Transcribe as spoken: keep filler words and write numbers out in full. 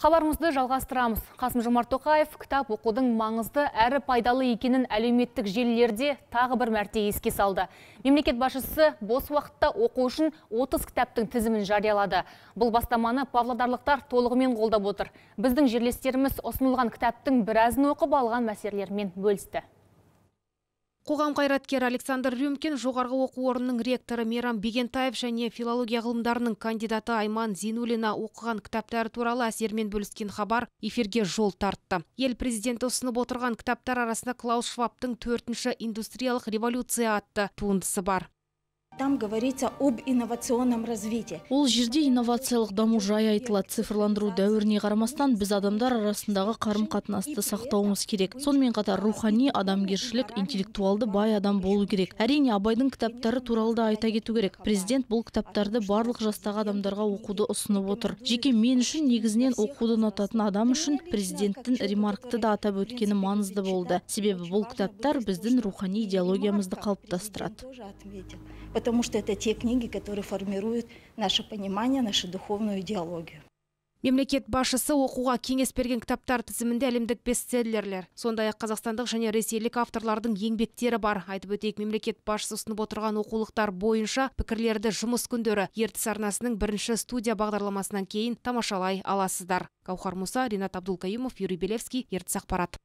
Хабарымызды жалғастырамыз. Қасым-Жомарт Тоқаев кітап оқудың маңызды әрі пайдалы екенін әлеуметтік желілерде тағы бір мәрте еске салды. Мемлекет басшысы бос уақытта оқу үшін отыз кітаптың тізімін жариялады. Бұл бастаманы павлодарлықтар толығымен қолдап отыр. Біздің жерлестеріміз ұсынылған кітаптың біразын оқып алған мәселелермен бөлісті. Қоғам қайраткері Александр Рюмкин, жоғарғы оқу орнының ректоры Мейрам Бегентаев және филология ғылымдарының кандидаты Айман Зинулина оқыған кітаптары туралы әсермен бөліскен хабар эфирге жол тартты. Ел президенті ұсынып отырған кітаптар арасында Клаус Швабтың төртінші индустриялық революция атты туындысы бар. Там говорится об инновационном развитии. Ол жерде инновациялық даму жайы айтылады. Цифрландыру дәуіріне қарамастан біз адамдар арасындағы қарым-қатынасты сақтауымыз керек. Сонымен қатар рухани, адамгершілік, интеллектуалды бай адам болу керек. Әрине, Абайдың кітаптары туралы да айта кету керек. Президент бұл кітаптарды барлық жастағы адамдарға оқуды ұсынып отыр. Жеке мен үшін негізінен оқуды ұнататын адам үшін президенттің ремаркты да атап өткені маңызды болды. Себебі бұл кітаптар біздің рухани идеологиямызды қалыптастырады. Потому что это те книги, которые формируют наше понимание, нашу духовную идеологию. Мемлекет басшысы оқуға кеңес берген кітаптар тізімінде әлемдік бестселлерлер, сондай-ақ қазақстандық және ресейлік авторлардың еңбектері бар. Айтып өтейік, мемлекет басшысы ұсынып отырған оқулықтар бойынша пікірлерді жұмыс күндері ертіс арнасының бірінші студия бағдарламасынан кейін тамашалай аласыздар. Гаухар Муса, Ринат Абдулкаимов, Юрий Белевский, Ертіс ақпарат.